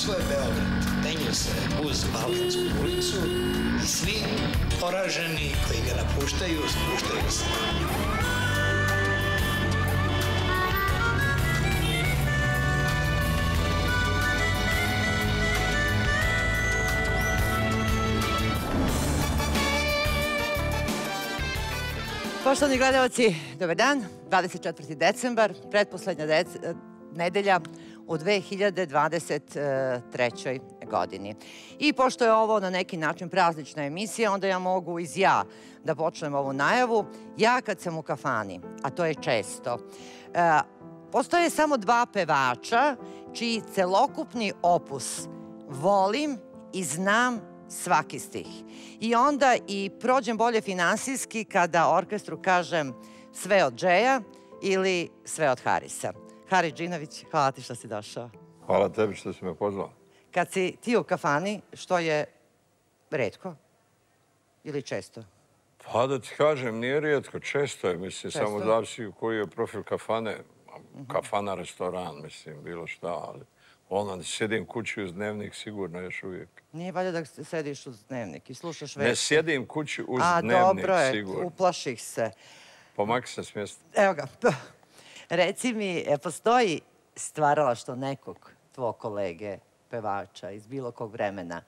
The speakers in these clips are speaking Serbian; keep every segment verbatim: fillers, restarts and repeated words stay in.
svoj Beograd penju se uz Balkansku ulicu i svi poraženi koji ga napuštaju, spuštaju se. Poštovani gledalci, dobar dan. dvadeset četvrti decembar, pretposlednja nedelja u dve hiljade dvadeset trećoj godini. I pošto je ovo na neki način praznična emisija, onda ja mogu iz ja da počnem ovu najavu. Ja kad sam u kafani, a to je često, postoje samo dva pevača čiji celokupni opus volim i znam svaki stih. I onda i prođem bolje finansijski kada orkestru kažem sve od Džeja ili sve od Harisa. Haris Džinović, hvala ti što si došao. Hvala tebi što si me pozvao. Kad si ti u kafani, što je retko ili često? Pa da ti kažem, nije rijetko, često je, mislim, samo zavisi koji je profil kafane. Kafana, restoran, mislim, bilo šta, ali ono, sjedim kući uz dnevnik, sigurno još uvijek. Nije valjda da sediš uz dnevnik i slušaš vesti? Ne sjedim kući uz dnevnik, sigurno. A, dobro je, uplaših se. Pomaki se s mjesta. Evo ga. Reci mi, postoji stvaralaštvo nekog tvojeg kolege, pevača iz bilo kog vremena,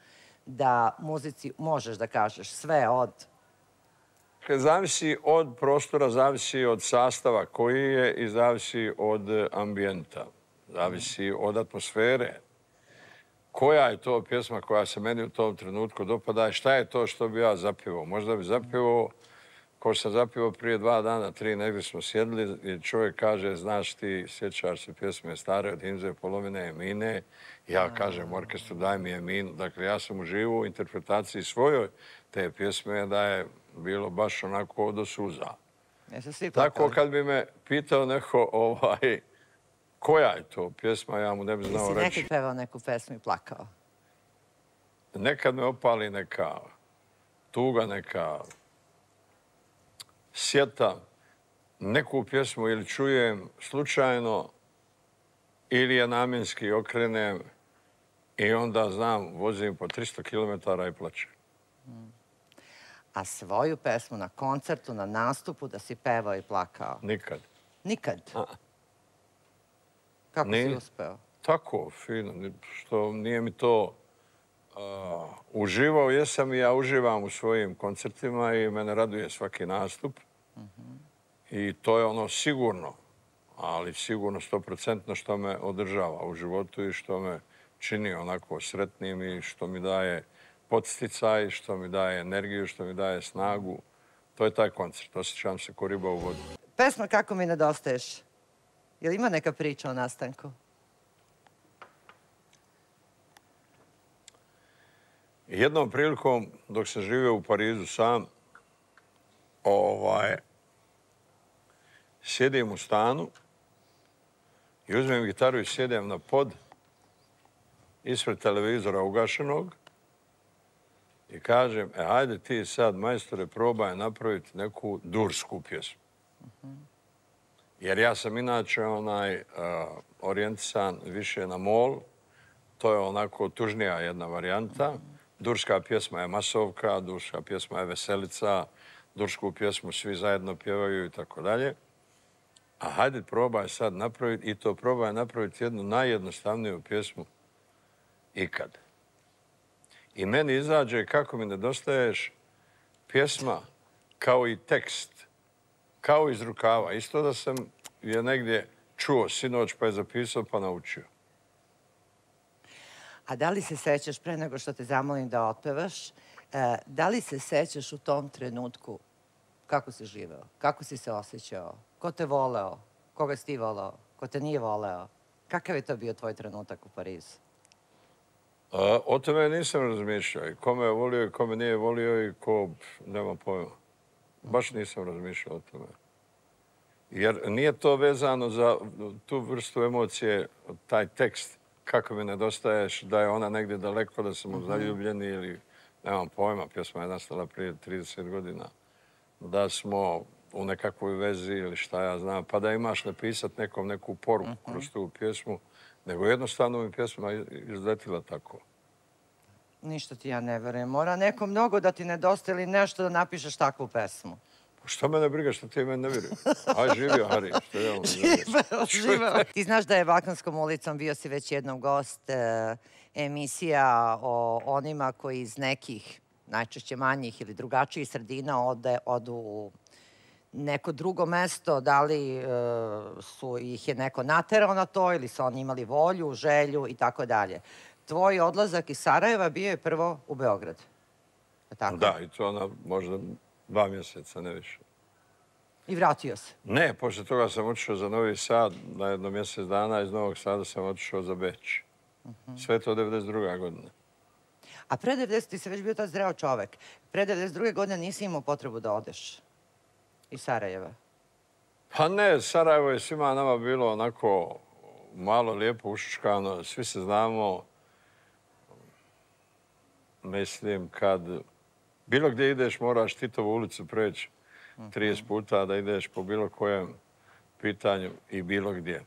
da muzici možeš da kažeš sve od... Zavisi od prostora, zavisi od sastava koji je i zavisi od ambijenta. Zavisi od atmosfere. Koja je to pjesma koja se meni u tom trenutku dopada i šta je to što bi ja zapivao? Možda bi zapivao, ko sam zapivao prije dva dana, tri, negdje smo sjedili i čovjek kaže, znaš ti, sjećaš se pjesme stare od Himze, polovine Emine. Ja kažem orkestru, daj mi Eminu. Dakle, ja sam uživao u interpretaciji svojoj te pjesme da je bilo baš onako do suza. Tako kad bi me pitao neko ovaj... Koja je to pjesma, ja mu ne bi znao reći. Jesi nekad pevao neku pjesmu i plakao? Nekad me opali neka tuga, neka sjeta, neku pjesmu ili čujem slučajno ili je namjenski okrenem i onda znam, vozim po tristo kilometara i plačem. A svoju pesmu na koncertu, na nastupu da si pevao i plakao? Nikad. Nikad? Kako si uspeo? Tako, fino. Što nije mi to... Uživao jesam i ja uživam u svojim koncertima i mene raduje svaki nastup. I to je ono sigurno, ali sigurno stoprocentno što me održava u životu i što me čini onako sretnim i što mi daje podsticaj, što mi daje energiju, što mi daje snagu. To je taj koncert. Osjećam se ko riba u vodu. Pesma Kako mi nedostaješ. Je li ima neka priča o nastanku? Jednom prilikom, dok sam živio u Parizu sam, sjedim u stanu i uzmem gitaru i sjedem na pod ispred televizora ugašenog i kažem, e, hajde ti sad, majstore, probaj napraviti neku dursku pjesmu. Jer ja sam inače orijentisan više na mol. To je onako tužnija jedna varijanta. Durska pjesma je masovka, durska pjesma je veselica, dursku pjesmu svi zajedno pjevaju i tako dalje. A hajde probaj sad napraviti, i to probaj napraviti jednu najjednostavniju pjesmu ikad. I meni izađe Kako mi nedostaješ pjesma kao i tekst, kao iz rukava. Isto da sam je negdje čuo sinoć pa je zapisao pa naučio. A da li se sećaš, pre nego što te zamolim da otpevaš, da li se sećaš u tom trenutku kako si živeo, kako si se osjećao, ko te voleo, koga si ti voleo, ko te nije voleo? Kakav je to bio tvoj trenutak u Parizu? O tome nisam razmišljao. I ko me je volio i ko me nije volio i ko nema pojma. Baš nisam razmišljao o tome. Jer nije to vezano za tu vrstu emocije, taj tekst, kako mi nedostaješ, da je ona negdje daleko, da sam zaljubljeni ili nemam pojma, pjesma je nastala prije trideset godina, da smo u nekakvoj vezi ili šta ja znam, pa da imaš napisat nekom neku poruku kroz tu pjesmu, nego jednostavno mi pjesma izletila tako. Ništa ti ja ne verujem. Mora neko mnogo da ti nedostaje ili nešto da napišeš takvu pesmu. Šta mene briga, što ti mene ne vjerujem? Aj, živio, Hari. Živeo, živeo. Ti znaš da je Balkanskom ulicom, bio si već jednom gost, e, emisija o onima koji iz nekih, najčešće manjih ili drugačijih sredina ode, odu u neko drugo mesto, da li e, su ih je neko naterao na to ili su oni imali volju, želju i tako dalje. Tvoj odlazak iz Sarajeva bio je prvo u Beograd. Tako? Da, i to ona možda dva mjeseca, ne više. I vratio se? Ne, poslije toga sam otišao za Novi Sad na jedno mjesec dana, iz Novog Sada sam otišao za Beč. Sve to devedeset druga godina. A pre devedeset ti si već bio tad zreo čovek. Pre devedeset druge godine nisi imao potrebu da odeš iz Sarajeva? Pa ne, Sarajevo je svima nama bilo onako malo lijepo ušuškano. Svi se znamo. Mislim, kad bilo gdje ideš, moraš Titovu ulicu preći trideset puta da ideš po bilo kojem pitanju i bilo gdje.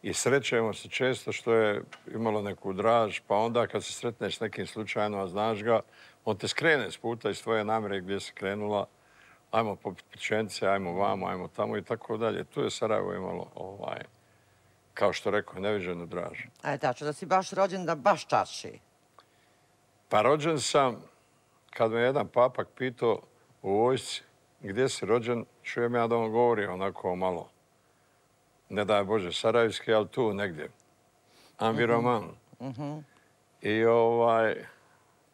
I srećemo se često što je imalo neku draž, pa onda kad se sretneš s nekim slučajno, a znaš ga, on te skrene s puta iz tvoje namjere gdje si krenula. Ajmo po pečence, ajmo vamo, ajmo tamo i tako dalje. Tu je Sarajevo imalo, ovaj, kao što rekao, neviđenu draž. A je tačno da si baš rođen da baš čarši. Pa rođen sam, kad me jedan papak pitao u vojsci gdje si rođen, čujem ja da on govori onako malo, ne daj Bože, sarajevski, ali tu negdje. Ambiroman. I ovaj,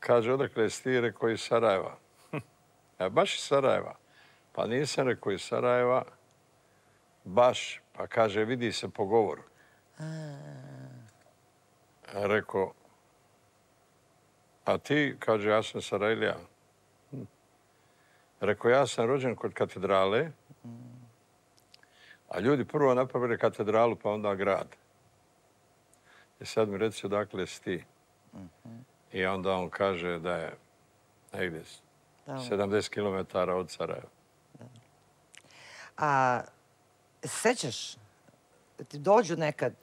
kaže, odakle si ti, rekao iz Sarajeva. E, baš iz Sarajeva. Pa nisam rekao iz Sarajeva, baš, pa kaže, vidi se po govoru. Rekao, a ti, kaže, ja sam Sarajlija. Rekao, ja sam rođen kod katedrale, a ljudi prvo napravili katedralu, pa onda grad. I sad mi reci odakle si ti. I onda on kaže da je negdje sedamdeset kilometara od Sarajeva. A sećaš, ti dođu nekad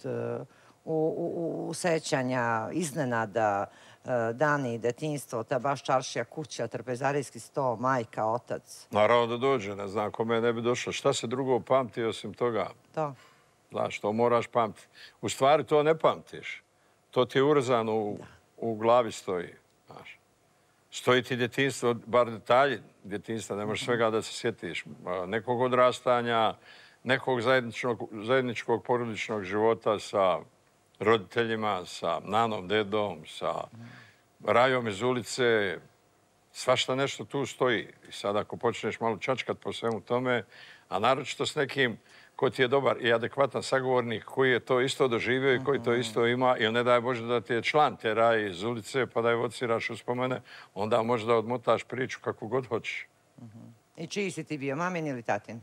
u sećanja, iznenada, dani, detinjstvo, ta baš čaršija kuća, trpezarijski sto, majka, otac? Naravno da dođe, ne znam kome ne bi došlo. Šta se drugo pamti osim toga? To. Znaš, to moraš pamtiti. U stvari to ne pamtiš. To ti je urezano u, u glavi stoji. Znaš. Stoji ti djetinjstvo, bar detalji djetinjstva, ne možeš svega da se sjetiš. Nekog odrastanja, nekog zajedničkog, zajedničkog porodičnog života sa roditeljima, sa nanom, dedom, sa rajom iz ulice. Svašta nešto tu stoji. I sad ako počneš malo čačkat po svemu tome, a naročito s nekim ko ti je dobar i adekvatan sagovornik, koji je to isto doživio i koji to isto ima, ili ne daj Bože da ti je član te raje iz ulice, pa da je evociraš uspomene, onda možeš da odmotaš priču kako god hoćeš. I čiji si ti bio, mamin ili tatin?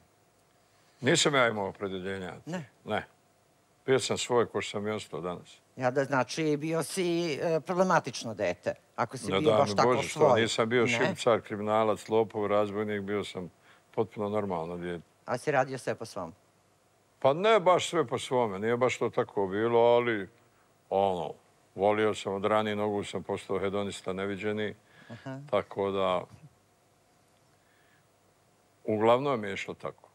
Nisam ja imao opredjeljenja. Ne? Ne. Bio sam svoj, ko što sam i ostao danas. Ja da znači bio si problematično dete, ako si bio baš tako svoj. Bože, što nisam bio šipcar, kriminalac, lopov, razbojnik, bio sam potpuno normalno djete. A si radio sve po svom? Pa ne baš sve po svome, nije baš to tako bilo, ali ono, volio sam od ranije nogu, sam postao hedonista neviđeni, tako da uglavnom je išlo tako.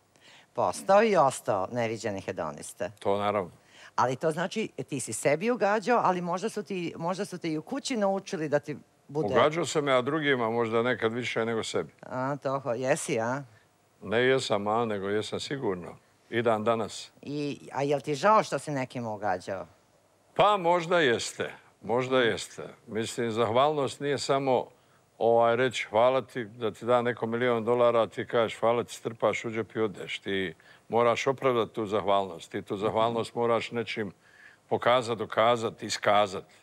Postao i ostao neviđeni hedoniste. To naravno. Ali to znači, ti si sebi ugađao, ali možda su, ti, možda su te i u kući naučili da ti bude... Ugađao sam ja drugima, možda nekad više nego sebi. A, toho, jesi, a? Ne jesam, a, nego jesam sigurno. I dan danas. I, a jel ti žao što si nekim ugađao? Pa možda jeste, možda jeste. Mislim, zahvalnost nije samo ovaj, reći hvala ti, da ti da neko milion dolara, a ti kažeš hvala ti, strpaš u džep i odeš. Ti moraš opravdati tu zahvalnost. Ti tu zahvalnost moraš nečim pokazati, dokazati, iskazati.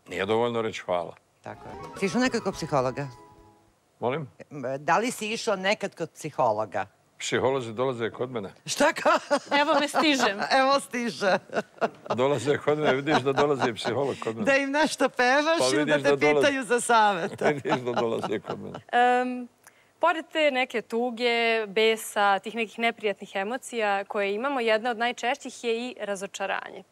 Nije dovoljno reći hvala. Tako je. Si išao nekad kod psihologa? Molim? Da li si išao nekad kod psihologa? Psiholozi dolaze kod mene. Šta ka? Evo me stižem. Evo stiže. Dolaze kod mene, vidiš da dolazi psiholog kod mene. Da im nešto pevaš ili da te pitaju za savjet. Vidiš da dolaze kod mene. Pored te neke tuge, besa, tih nekih neprijatnih emocija koje imamo, jedna od najčešćih je i razočaranje.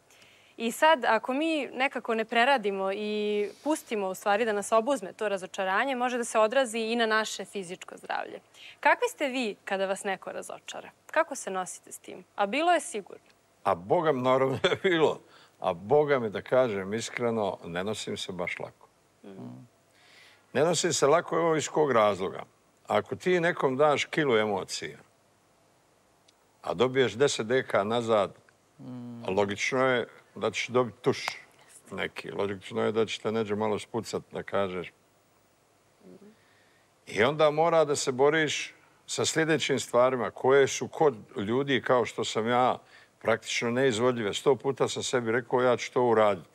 I sad, ako mi nekako ne preradimo i pustimo u stvari da nas obuzme to razočaranje, može da se odrazi i na naše fizičko zdravlje. Kakvi ste vi kada vas neko razočara? Kako se nosite s tim? A bilo je sigurno. A Boga mi naravno je bilo. A Boga mi, da kažem iskreno, ne nosim se baš lako. Ne nosim se lako evo iz kog razloga. Ako ti nekom daš kilu emocija, a dobiješ deset deka nazad, logično je da ćeš dobiti tuš neki. Logično je da će te neđe malo spucat, da kažeš. I onda mora da se boriš sa sljedećim stvarima koje su kod ljudi kao što sam ja praktično neizvodljive. Sto puta sam sebi rekao ja ću to uraditi.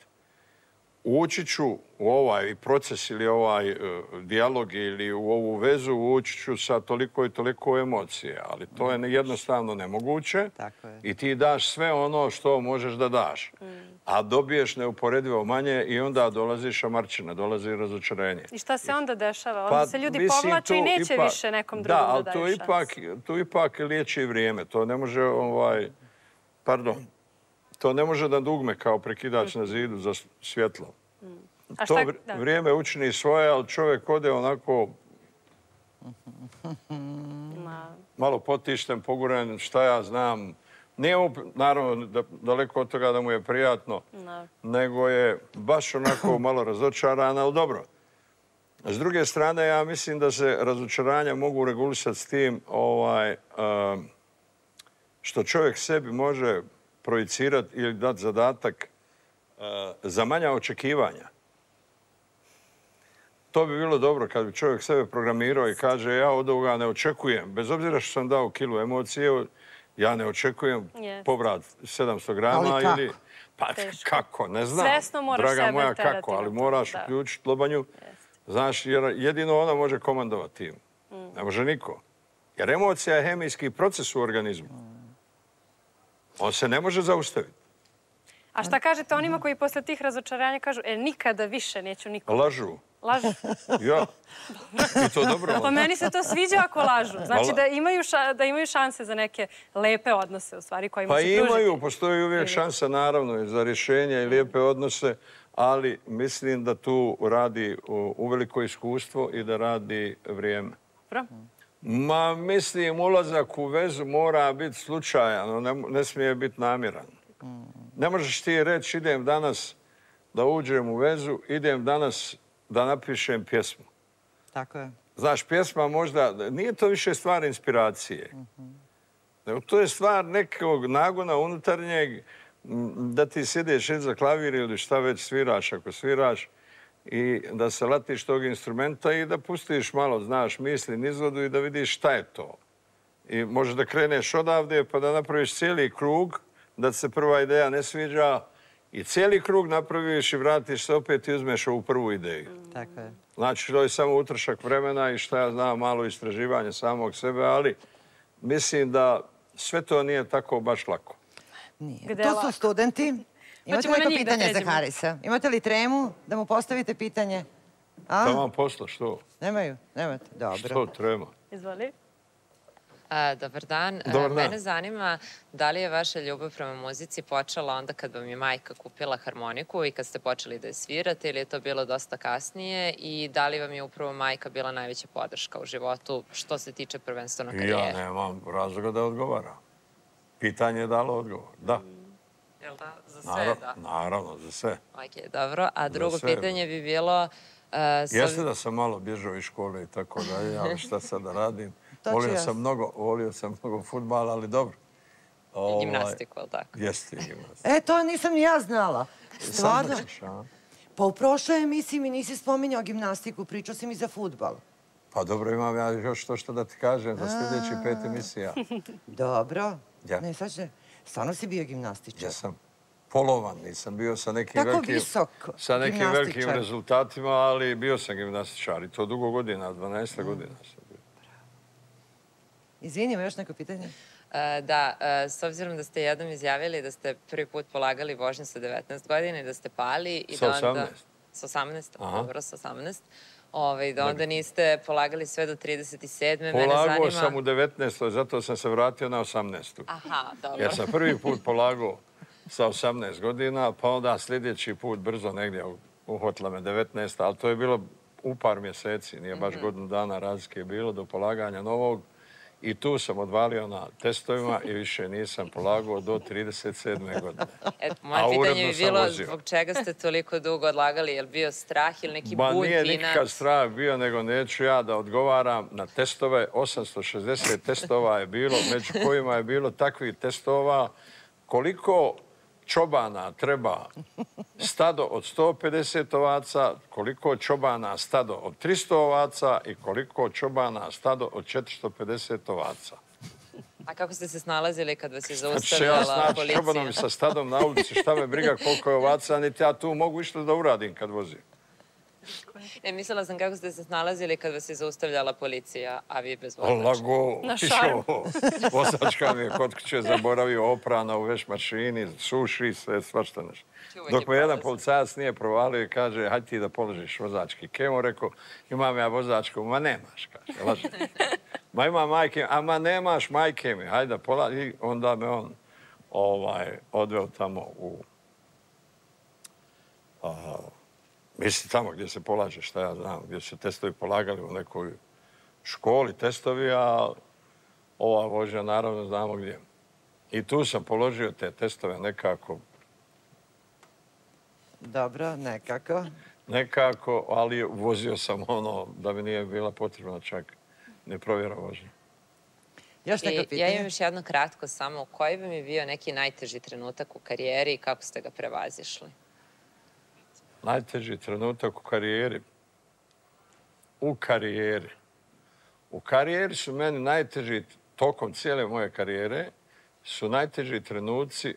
Ući ću u ovaj proces ili ovaj uh, dijalog ili u ovu vezu, ući ću sa toliko i toliko emocije, ali to je jednostavno nemoguće. Tako je. I ti daš sve ono što možeš da daš, mm. a dobiješ neuporedivo manje i onda dolazi šamarčina, dolazi razočarenje. I šta se onda dešava? Onda pa, se ljudi povlače i neće ipak, više nekom drugom da, da daju šansu. Da, ali to ipak, to ipak liječi vrijeme. To ne može, ovaj, pardon, to ne može da dugme kao prekidač na zidu za svjetlo. A to vrijeme učini svoje, ali čovjek ode onako malo potišten, poguren, šta ja znam. Nije mu, naravno, daleko od toga da mu je prijatno, nego je baš onako malo razočaran, ali dobro. S druge strane, ja mislim da se razočaranja mogu regulisati s tim ovaj, što čovjek sebi može projicirati ili dati zadatak za manja očekivanja. To bi bilo dobro kad bi čovjek sebe programirao i kaže ja od ovoga ne očekujem. Bez obzira što sam dao kilu emocije, ja ne očekujem yes. povrat sedamsto grama. Ali kako? Ili, pa teško. Kako, ne znam. Svesno moraš Draga sebe moja, terati. kako, ali moraš da. uključiti lobanju. Yes. Znaš, jer jedino ona može komandovati tim. Mm. Ne može niko. Jer emocija je hemijski proces u organizmu. Mm. On se ne može zaustaviti. A šta kažete onima koji posle tih razočaranja kažu, e, nikada više neću nikom? Lažu. Lažu? Ja. I to dobro. Pa meni se to sviđa ako lažu. Znači da imaju, ša, da imaju šanse za neke lepe odnose, u stvari, kojima pa se pružiti. Pa imaju, postoji uvijek šansa, naravno, za rješenje i lijepe odnose, ali mislim da tu radi uveliko iskustvo i da radi vrijeme. Dobro. Ma, mislim, ulazak u vezu mora biti slučajan, ne, ne smije biti namjeran. Ne možeš ti reći idem danas da uđem u vezu, idem danas da napišem pjesmu. Tako je. Znaš, pjesma možda, nije to više stvar inspiracije. Uh-huh. To je stvar nekog nagona unutarnjeg da ti sjediš iza klavira ili šta već sviraš ako sviraš i da se latiš tog instrumenta i da pustiš malo, znaš, misli nizvodu i da vidiš šta je to. I možeš da kreneš odavde pa da napraviš cijeli krug, da se prva ideja ne sviđa i cijeli krug napraviš i vratiš se opet i uzmeš ovu prvu ideju. Tako je. Znači, to je samo utrošak vremena i šta ja znam, malo istraživanje samog sebe, ali mislim da sve to nije tako baš lako. Nije. To su studenti. Imate li neko pitanje za Harisa? Imate li tremu da mu postavite pitanje? A? Da vam posla, što? Nemaju? Nemate? Dobro. Što trema? Izvoli. A, dobar dan. Dobar dan. Mene zanima da li je vaša ljubav prema muzici počela onda kad vam je majka kupila harmoniku i kad ste počeli da je svirate ili je to bilo dosta kasnije i da li vam je upravo majka bila najveća podrška u životu što se tiče prvenstveno karijere? Ja nemam razloga da odgovaram. Pitanje je dalo odgovor. Da. Jel da? Za sve, Naravno, da? Naravno, za sve. Ok, dobro. A drugo pitanje bi bilo... Uh, Jeste da sam malo bježao iz škole i tako dalje, ali šta sad da radim? Volio sam mnogo, volio sam mnogo fudbala, ali dobro. I gimnastiku, ali tako? Jeste i gimnastiku. E, to nisam ni ja znala. Stvarno? Ćeš, a? Pa u prošloj emisiji mi nisi spominjao gimnastiku, pričao si mi za fudbal. Pa dobro, imam ja još to što da ti kažem za sljedeći pet emisija. Dobro. Ja. Ne, sad će... Stvarno si bio gimnastičar? Ja sam polovan, nisam bio sa nekim Tako velikim... visok sa nekim gimnastičar. velikim rezultatima, ali bio sam gimnastičar i to dugo godina, dvanaest godina sam bio. Izvini, ima još neko pitanje? Da, s obzirom da ste jednom izjavili da ste prvi put polagali vožnju sa devetnaest godina i da ste pali... i Sa da onda... osamnaest? Sa osamnaest, dobro, sa osamnaest. Ove, da onda niste polagali sve do trideset sedme Polagao Mene zanima... sam u devetnaestoj, zato sam se vratio na osamnaestu. Aha, dobro. Jer sam prvi put polagao sa osamnaest godina, pa onda sljedeći put brzo negdje uhvatila me devetnaest, ali to je bilo u par mjeseci, nije baš godinu dana razlike bilo do polaganja novog. I tu sam odvalio na testovima i više nisam polagao do trideset sedme godine. Moje pitanje bi bilo zbog čega ste toliko dugo odlagali, je li bio strah ili neki bulj, Nije nikakav strah bio, nego neću ja da odgovaram na testove. osamsto šezdeset testova je bilo, među kojima je bilo takvih testova koliko čobana treba stado od sto pedeset ovaca, koliko čobana stado od tristo ovaca i koliko čobana stado od četiristo pedeset ovaca. A kako ste se snalazili kad vas je zaustavljala policija? Ja snaći čobanom i sa stadom na ulici, šta me briga koliko je ovaca, niti ja tu mogu išta da uradim kad vozim. Ne, mislila sam kako ste se snalazili kad vas je zaustavljala policija, a vi bez vozačka. Lago, išao. Vozačka mi je kod kuće zaboravio oprana u veš mašini, suši se, svašta nešto. Dok me jedan policajac nije provalio i kaže, hajde ti da položiš vozački kemo, rekao, imam ja vozačku, ma nemaš, kaže, laži. Ma ima majke, a ma nemaš majke mi, hajde da polaži. I onda me on odveo tamo u... Misli tamo gdje se polaže, šta ja znam, gdje se testovi polagali u nekoj školi, testovi, a ova vožnja naravno znamo gdje. I tu sam položio te testove nekako. Dobro, nekako. Nekako, ali vozio sam ono da mi nije bila potrebna čak ne provjera vožnja. Još neko pitanje? Ja imam još jedno kratko samo. Koji bi mi bio neki najteži trenutak u karijeri i kako ste ga prevazišli? Najteži trenutak u karijeri. U karijeri. U karijeri su meni najteži, tokom cijele moje karijere, su najteži trenuci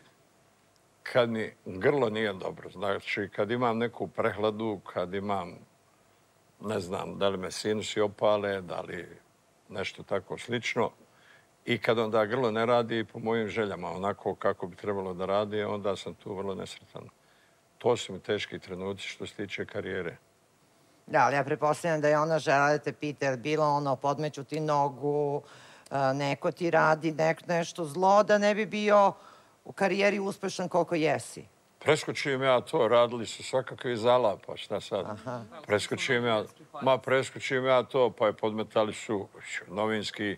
kad mi grlo nije dobro. Znači, kad imam neku prehladu, kad imam, ne znam, da li me sinusi opale, da li nešto tako slično. I kad onda grlo ne radi po mojim željama, onako kako bi trebalo da radi, onda sam tu vrlo nesretan. To su mi teški trenuci što se tiče karijere. Da, ali ja pretpostavljam da je ona žela da te pita, je bilo ono, podmeću ti nogu, neko ti radi nešto zlo, da ne bi bio u karijeri uspešan koliko jesi. Preskočujem ja to, radili su svakakve zalapa, šta sad? Preskočujem ja, ma preskočujem ja to, pa je podmetali su novinski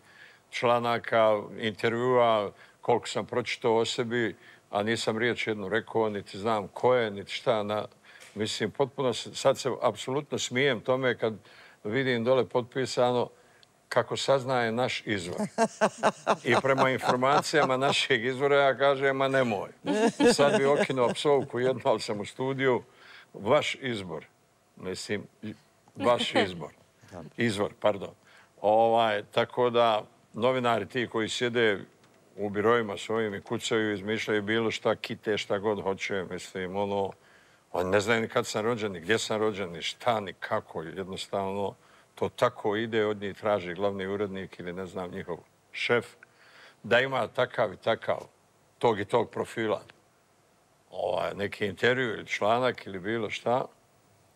članaka, intervjua, koliko sam pročitao o sebi, a nisam riječ jednu rekao, niti znam ko je, niti šta. Mislim, potpuno, sad se apsolutno smijem tome kad vidim dole potpisano kako saznaje naš izvor. I prema informacijama našeg izvora ja kažem, ma nemoj. Sad bi okinuo psovku jednu, ali sam u studiju. Vaš izbor. Mislim, vaš izbor. Izvor, pardon. Tako da novinari ti koji sjede u birojima svojim i kucaju, izmišljaju bilo šta, kite, šta god hoće. Mislim, ono, oni ne znaju ni kad sam rođen, ni gdje sam rođen, ni šta, ni kako. Jednostavno, to tako ide, od njih traži glavni urednik ili ne znam, njihov šef, da ima takav i takav, tog i tog profila. Neki intervju ili članak ili bilo šta.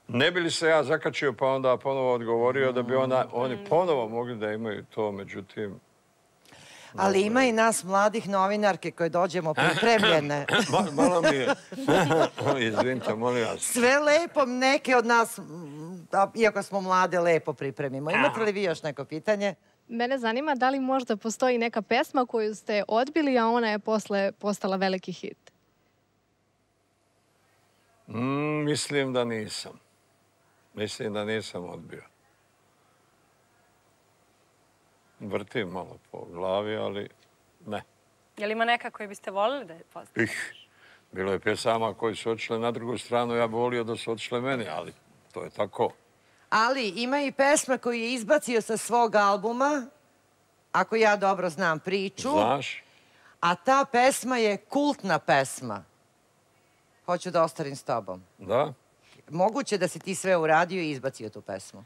Ne bi li se ja zakačio pa onda ponovo odgovorio da bi oni ponovo mogli da imaju to, međutim... Ali ima i nas mladih novinarke koje dođemo pripremljene. Malo mi je. Izvinite, molim vas. Sve lepo, neke od nas, iako smo mlade, lepo pripremimo. Imate li vi još neko pitanje? Mene zanima da li možda postoji neka pesma koju ste odbili, a ona je posle postala veliki hit? Mislim da nisam. Mislim da nisam odbio. Vrtim malo po glavi, ali ne. Je li ima neka koju biste volili da je poznate? Bilo je pjesama koji su otišle na drugu stranu, ja bi volio da su otišle meni, ali to je tako. Ali ima i pesma koju je izbacio sa svog albuma, ako ja dobro znam priču. Znaš? A ta pesma je kultna pesma. Hoću da ostarim s tobom. Da? Moguće da si ti sve uradio i izbacio tu pesmu.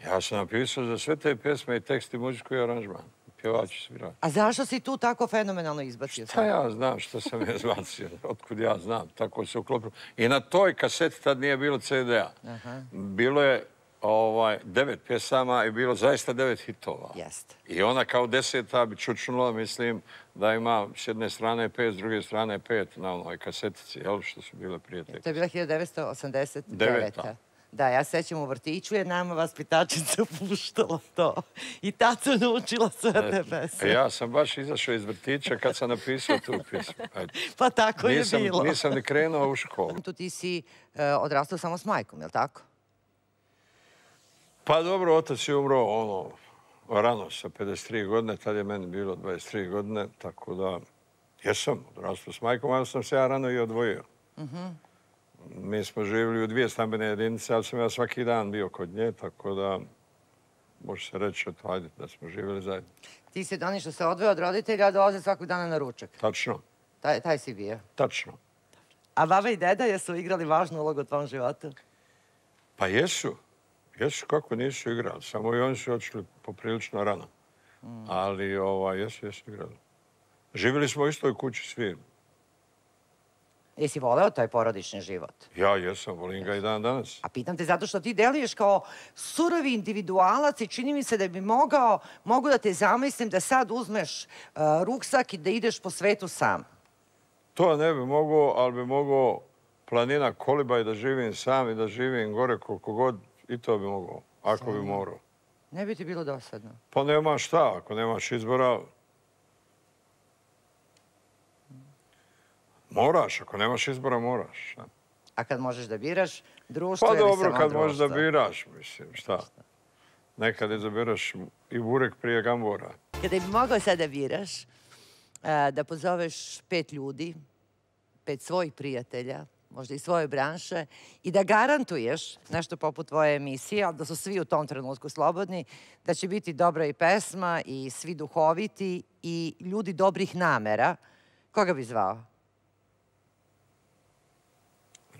Ja sam napisao za sve te pjesme i tekst i muziku i aranžman. Pjevači svirati. A zašto si tu tako fenomenalno izbacio? Šta ja znam što sam je izbacio? Otkud ja znam? Tako se uklopilo. I na toj kaseti tad nije bilo ce de a. Bilo je devet pjesama i bilo zaista devet hitova. Jeste. I ona kao deseta bi čučnula, mislim, da ima s jedne strane pet, s druge strane pet na onoj kasetici, jel, što su bile prije te. To je bila hiljadu devetsto osamdeset deveta. Da, ja sećam u vrtiću je nama vaspitačica puštala to. I tad sam naučila sve te pesme. Ja sam baš izašao iz vrtića kad sam napisao tu pjesmu. Pa tako je bilo. Nisam ni krenuo u školu. Tu ti si odrastao samo s majkom, je li tako? Pa dobro, otac je umro ono, rano sa pedeset tri godine, tad je meni bilo dvadeset tri godine, tako da jesam odrastao s majkom, ali sam se ja rano i odvojio. Mi smo živjeli u dvije stambene jedinice, ali sam ja svaki dan bio kod nje, tako da može se reći ajde, da smo živjeli zajedno. Ti si oni što se odvoje od roditelja, dolaze svakog dana na ručak. Tačno. Taj, taj si bio? Tačno. A baba i deda jesu igrali važnu ulogu u tvom životu? Pa jesu. Jesu, kako nisu igrali. Samo i oni su otišli poprilično rano. Ali ova, jesu, jesu igrali. Živjeli smo u istoj kući svi. Jesi voleo taj porodični život? Ja jesam, volim ga i dan danas. A pitam te zato što ti deluješ kao surovi individualac i čini mi se da bi mogao, mogu da te zamislim da sad uzmeš ruksak i da ideš po svetu sam. To ne bi mogao, ali bi mogao planina Koliba i da živim sam i da živim gore koliko god i to bi mogao, ako bi morao. Ne bi ti bilo dosadno? Pa nema šta, ako nemaš izbora... Moraš, ako nemaš izbora, moraš. A kad možeš da biraš društvo ili samo društvo? Pa dobro, kad možeš da biraš, mislim, šta? Nekad izabiraš i burek prije gambora. Kada bi mogao sad da biraš, da pozoveš pet ljudi, pet svojih prijatelja, možda i svoje branše, i da garantuješ nešto poput tvoje emisije, ali da su svi u tom trenutku slobodni, da će biti dobra i pesma i svi duhoviti i ljudi dobrih namera, koga bi zvao?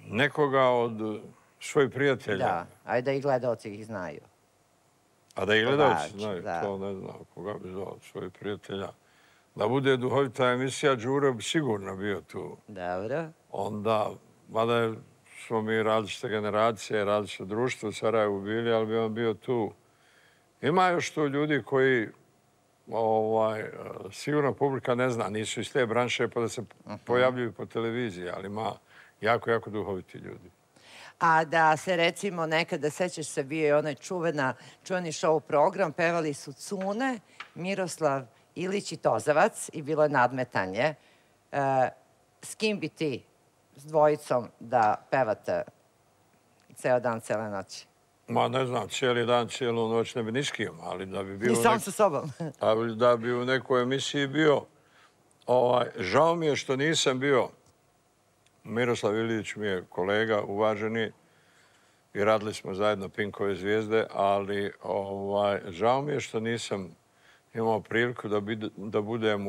Nekoga od svojih prijatelja. Da, a da i gledaoci ih znaju. A da i gledaoci znaju, to ne znam koga bi zvao od svojih prijatelja. Da bude duhovita emisija, Đuro bi sigurno bio tu. Dobro. Onda, mada smo mi različite generacije, različite društvo u Sarajevu bili, ali bi on bio tu. Ima još tu ljudi koji, sigurno publika ne zna, nisu iz te branše pa da se pojavljuju po televiziji, ali ima jako, jako duhoviti ljudi. A da se recimo nekada, sećaš se, bio je onaj čuveni show program, pevali su Cune, Miroslav Ilić i Tozavac i bilo je nadmetanje. S kim bi ti, s dvojicom, da pevate ceo dan, cele noći? Ma ne znam, cijeli dan, cijelu noć ne bi ni s kim, ali da bi bio... Ni sam sa sobom. Da bi u nekoj emisiji bio. Žao mi je što nisam bio. Miroslav Ilić mi je kolega, uvaženi, i radili smo zajedno Pinkove zvijezde, ali žao mi je što nisam imao priliku da budem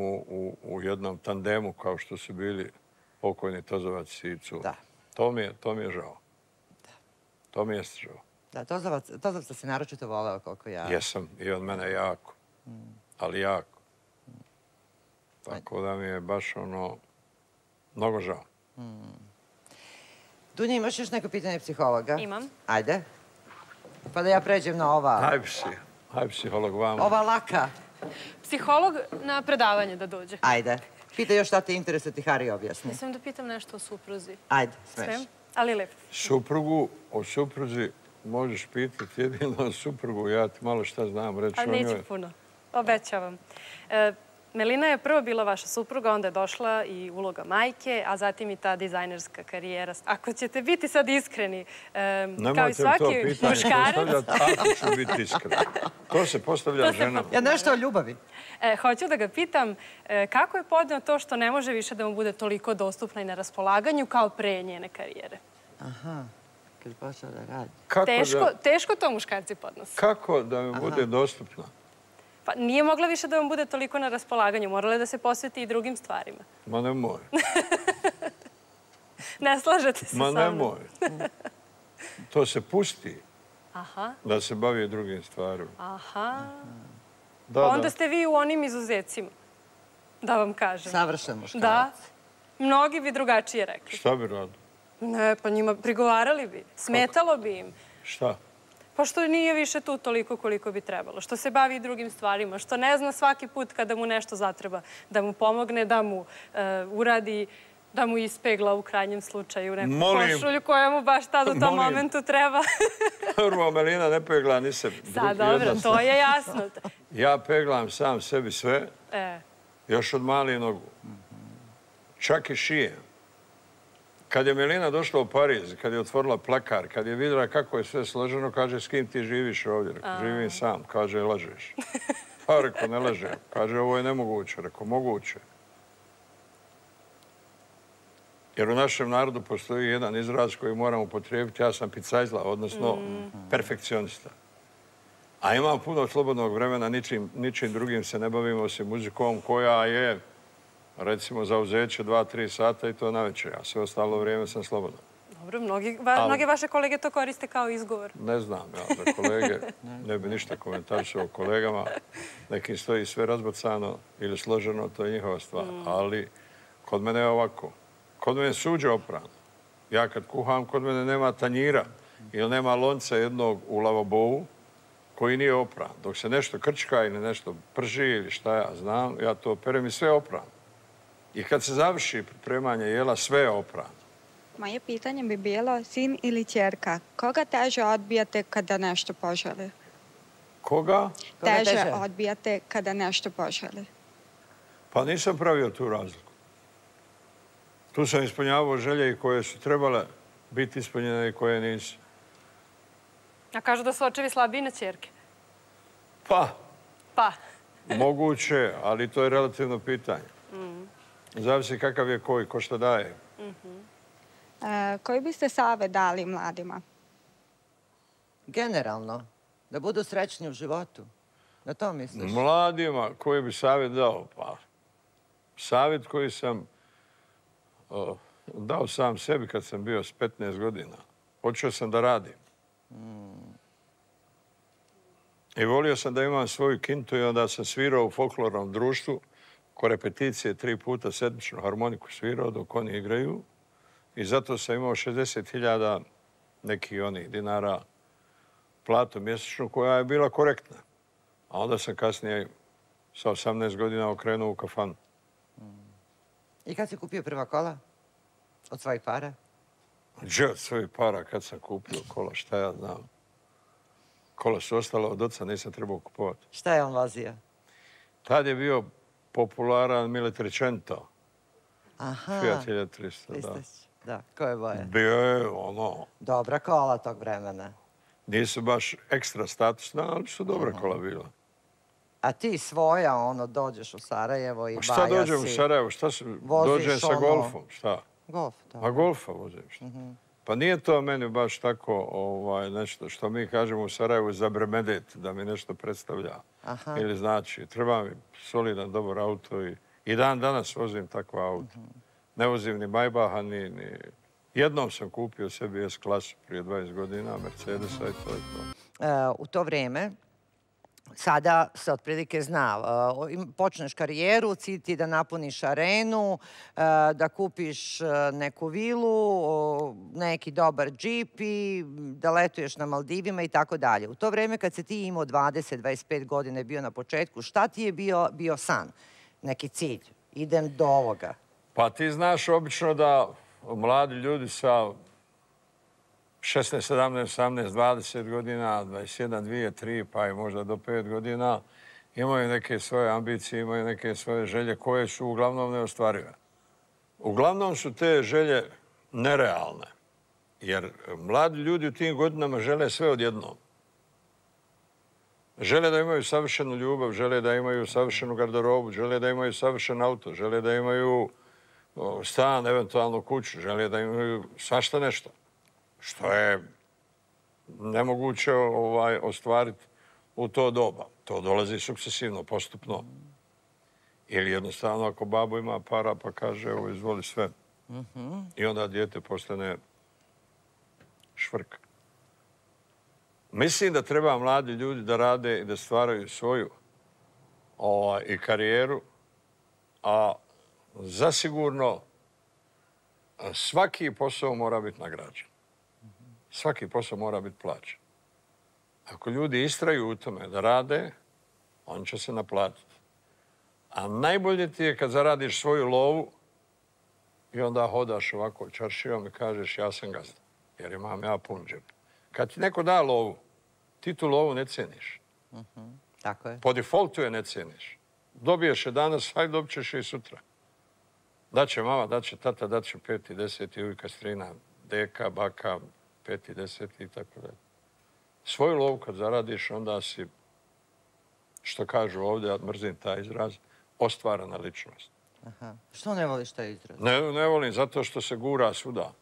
u jednom tandemu kao što su bili pokojni Tozovac i Cuna. To mi je žao. To mi je žao. Da, Tozovca se naročito voleo koliko ja... Jesam, i od mene jako. Ali jako. Tako da mi je baš ono, mnogo žao. Dunja, imaš još neko pitanje psihologa? Imam. Ajde. Pa da ja pređem na ova... Haj psi. Haj psiholog vama. Ova laka. Psiholog na predavanje da dođe. Ajde. Pita još šta te interesuje, ti Hari objasni. Mislim da pitam nešto o supruzi. Ajde, smeš. Smem? Ali lepo. Suprugu, o supruzi možeš pitati jedino o suprugu. Ja ti malo šta znam reći o njoj. Ali neću puno. Obećavam. Melina je prvo bila vaša supruga, onda je došla i uloga majke, a zatim i ta dizajnerska karijera. Ako ćete biti sad iskreni, kao i svaki muškarac... Nemojte to pitanje postavljati, ako ću biti iskren. To se postavlja ženama. Ja nešto o ljubavi. Hoću da ga pitam kako je podneo to što ne može više da mu bude toliko dostupna i na raspolaganju kao pre njene karijere. Aha, kad je počeo da radi. Teško to muškarci podnose. Kako da mi bude dostupna? Pa nije mogla više da vam bude toliko na raspolaganju. Morala je da se posveti i drugim stvarima. Ma nemoj. Ne slažete se sa mnom. Ma nemoj. To se pusti da se bavi drugim stvarima. Aha. Onda ste vi u onim izuzecima, da vam kažem. Savršen muškarac. Da. Mnogi bi drugačije rekli. Šta bi radili? Ne, pa njima prigovarali bi. Smetalo bi im. Šta? Pošto nije više tu toliko koliko bi trebalo, što se bavi i drugim stvarima, što ne zna svaki put kada mu nešto zatreba, da mu pomogne, da mu uradi, da mu ispegla u krajnjem slučaju neku košulju koja mu baš tad u tom momentu treba. Prvo, Melina ne pegla ni se. Sad, dobro, to je jasno. Ja peglam sam sebi sve, još od malih nogu. Čak i šije. Kad je Melina došla u Pariz, kad je otvorila plakar, kad je vidjela kako je sve složeno, kaže, s kim ti živiš ovdje? Rekao, živim sam. Kaže, lažeš. Pa, rekao, ne lažem. Kaže, ovo je nemoguće. Rekao, moguće. Jer u našem narodu postoji jedan izraz koji moram upotrijebiti. Ja sam picajzla, odnosno perfekcionista. A imam puno slobodnog vremena, ničim drugim se ne bavimo osim muzikom koja je, recimo, zauzeće dva, tri sata i to navečer. A sve ostalo vrijeme sam slobodan. Dobro, mnoge vaše kolege to koriste kao izgovor. Ne znam, ja, za kolege ne bi ništa komentarisao o kolegama. Nekim stoji sve razbacano ili složeno, to je njihova stvar. Ali kod mene je ovako. Kod mene je suđe oprano. Ja kad kuham, kod mene nema tanjira ili nema lonca jednog u lavabovu koji nije opran. Dok se nešto krčka ili nešto prži ili šta ja znam, ja to perem i sve oprano. I kad se završi pripremanje jela, sve je oprano. Moje pitanje bi bilo sin ili ćerka. Koga teže odbijate kada nešto poželi? Koga? Teže odbijate kada nešto poželi. Pa nisam pravio tu razliku. Tu sam ispunjavao želje i koje su trebale biti ispunjene i koje nisu. A kažu da su očevi slabiji na ćerke? Pa. Pa. Moguće, ali to je relativno pitanje. Zavisi kakav je koji, ko što daje. Koji biste savjet dali mladima? Generalno, da budu srećni u životu. Na to misliš? Mladima, koji bi savjet dao? Pa, savjet koji sam dao sam sebi kad sam bio s petnaest godina. Počeo sam da radim. I volio sam da imam svoju kintu i onda sam svirao u folklornom društvu. Ko repeticije tri puta sedmičnu harmoniku svirao dok oni igraju. I zato sam imao šezdeset hiljada nekih onih dinara platu mjesečnu koja je bila korektna. A onda sam kasnije sa osamnaest godina okrenuo u kafanu. I kad si kupio prva kola? Od svojih para? Gdje od svojih para kad sam kupio kola, šta ja znam. Kola su ostala od oca, nisam trebao kupovati. Šta je on vozio? Tad je bio popularan Mille Trecento. Aha. Fiat hiljadu trista, da. Da, koje boje? Bio je ono... Dobra kola tog vremena. Nisu baš ekstra statusna, ali su dobra kola bila. A ti svoja, ono, dođeš u Sarajevo i baja si... Šta dođem u Sarajevo? Šta se... Dođem sa Golfom, šta? Golf, da. A Golfa vozim, šta? Pa nije to meni baš tako nešto što mi kažemo u Sarajevu zabremedet, da mi nešto predstavlja. Ili znači, treba mi solidan, dobar auto i dan danas vozim takva auto. Ne vozim ni Maybacha, ni... Jednom sam kupio sebi S-klasu prije dvadeset godina, Mercedesa i to je to. U to vrijeme, sada se otprilike zna, počneš karijeru, cilj ti da napuniš arenu, da kupiš neku vilu, neki dobar džip i da letuješ na Maldivima i tako dalje. U to vrijeme kad se ti imao dvadeset do dvadeset pet godina bio na početku, šta ti je bio san? Neki cilj? Idem do ovoga. Pa ti znaš obično da mladi ljudi sa šesnaest, sedamnaest, osamnaest, dvadeset godina, dvadeset jedan, dvije, tri, pa i možda do pet godina, imaju neke svoje ambicije, imaju neke svoje želje koje su uglavnom neostvarive. Uglavnom su te želje nerealne, jer mladi ljudi u tim godinama žele sve odjednom. Žele da imaju savršenu ljubav, žele da imaju savršenu garderobu, žele da imaju savršen auto, žele da imaju stan, eventualno kuću, žele da imaju svašta nešto. Što je nemoguće ostvariti u to doba. To dolazi sukcesivno, postupno. Ili jednostavno ako babo ima para pa kaže evo izvoli sve. I onda dijete postane švrk. Mislim da treba mladi ljudi da rade i da stvaraju svoju i karijeru, a zasigurno svaki posao mora biti nagrađen. Svaki posao mora biti plaćen. Ako ljudi istraju u tome da rade, on će se naplatiti. A najbolje ti je kad zaradiš svoju lovu i onda hodaš ovako čaršijom i kažeš ja sam gazda, jer imam ja pun džep. Kad ti neko da lovu, ti tu lovu ne ceniš. Tako je. Po defaultu je ne ceniš. Dobiješ je danas, hajde dobit ćeš je i sutra. Daće mama, daće tata, daće peti, deseti, uvijek strina, deka, baka, peti, deseti i tako dalje. Svoju lovu kad zaradiš, onda si, što kažu ovdje, ja mrzim taj izraz, ostvarana ličnost. Aha. Što ne voliš taj izraz? Ne, ne volim, zato što se gura svuda.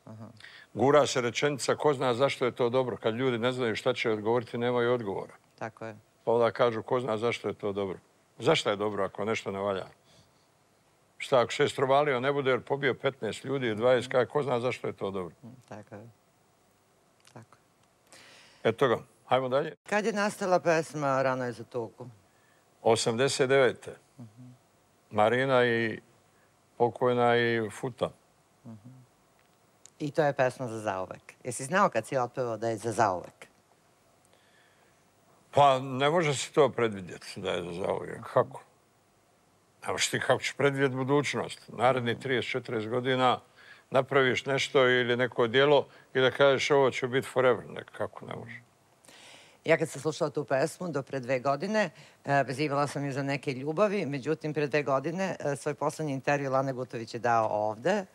Aha. Gura se rečenica, ko zna zašto je to dobro. Kad ljudi ne znaju šta će odgovoriti, nemaju odgovora. Tako je. Pa onda kažu, ko zna zašto je to dobro. Zašto je dobro ako nešto ne valja? Šta, ako se strovalio, ne bude jer pobio petnaest ljudi i dvadeset, kaj, ko zna zašto je to dobro? Tako je. Tako je. Eto ga, hajmo dalje. Kad je nastala pesma Rano je za tugu? osamdeset devete. Marina i pokojna i Futa. I to je pesma za zauvek. Jesi znao kad si otpevao da je za zauvek? Pa ne može se to predvidjeti da je za zauvek. Kako? Nemaš ti kako ćeš predvidjeti budućnost. Naredni trideset četrdeset godina napraviš nešto ili neko djelo i da kažeš ovo će biti forever. Kako ne može? Ja kad sam slušala tu pesmu do pre dve godine, vezivala sam ju za neke ljubavi, međutim pre dve godine svoj poslednji intervju Lane Gutović je dao ovde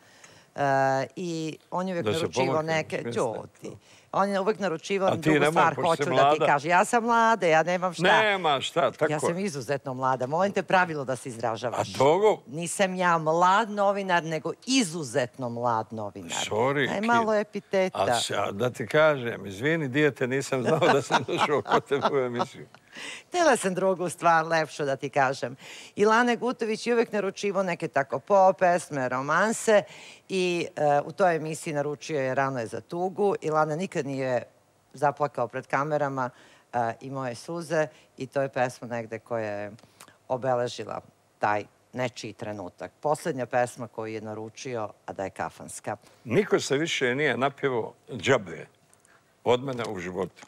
i on je uvijek naručivao neke... Ćuti. On je uvijek naručivao drugu stvar, hoću da ti kaže. Ja sam mlada, ja nemam šta. Nema šta, tako. Ja sam izuzetno mlada. Molim te pravilo da se izražavaš. A togo? Nisam ja mlad novinar, nego izuzetno mlad novinar. Sorry. Daj malo epiteta. A da ti kažem, izvini dijete, nisam znao da sam došao kod tebe u emisiju. Htjela sam drugu stvar, lepšu da ti kažem. I Lane Gutović je uvijek naručivo neke tako pop pesme, romanse i u toj emisiji naručio je Rano je za tugu i Lana nikad nije zaplakao pred kamerama, imao je suze i to je pesma negde koja je obeležila taj nečiji trenutak. Poslednja pesma koju je naručio, a da je kafanska. Niko se više nije napjevao džabe od mene u životu.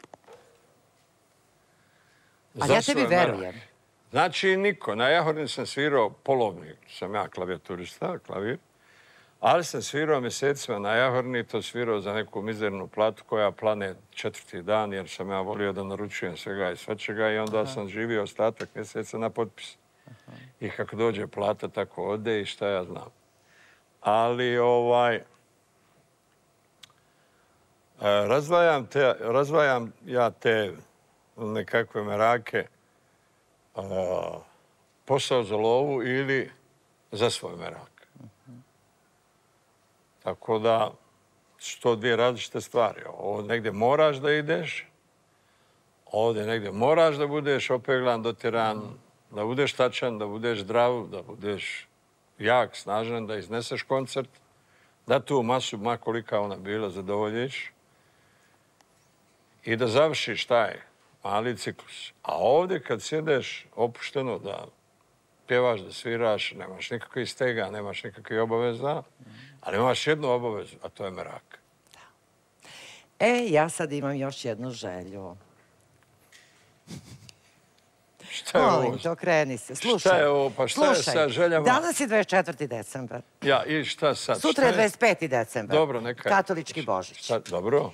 Ali ja tebi verujem. Znači, niko. Na Jahorni sam svirao polovnik. Sam ja klavijaturista, klavir. Ali sam svirao mjesecima na Jahorni, to svirao za neku mizernu platu koja plane četvrti dan, jer sam ja volio da naručujem svega i svačega i onda sam živio ostatak mjeseca na potpis. I kako dođe plata, tako ode i šta ja znam. Ali, ovaj... Razvajam ja te nekakve merake, posao za lovu ili za svoj merak. Tako da su to dvije različite stvari. Ovdje negdje moraš da ideš, ovdje negdje moraš da budeš opeglan, dotjeran, da budeš tačan, da budeš zdrav, da budeš jak, snažan, da izneseš koncert, da tu masu, ma kolika ona bila, zadovoljiš i da završiš taj mali ciklus. A ovdje kad sjedeš opušteno da pjevaš, da sviraš, nemaš nikakvih stega, nemaš nikakvih obaveza, ali imaš jednu obavezu, a to je merak. E, ja sad imam još jednu želju. Šta je ovo? Molim te, okreni se. Slušaj. Šta je ovo? Pa šta je sa željama? Danas je dvadeset četvrti decembar. Ja, i šta sad? Sutra je dvadeset peti decembar. Dobro, neka je. Katolički Božić. Dobro.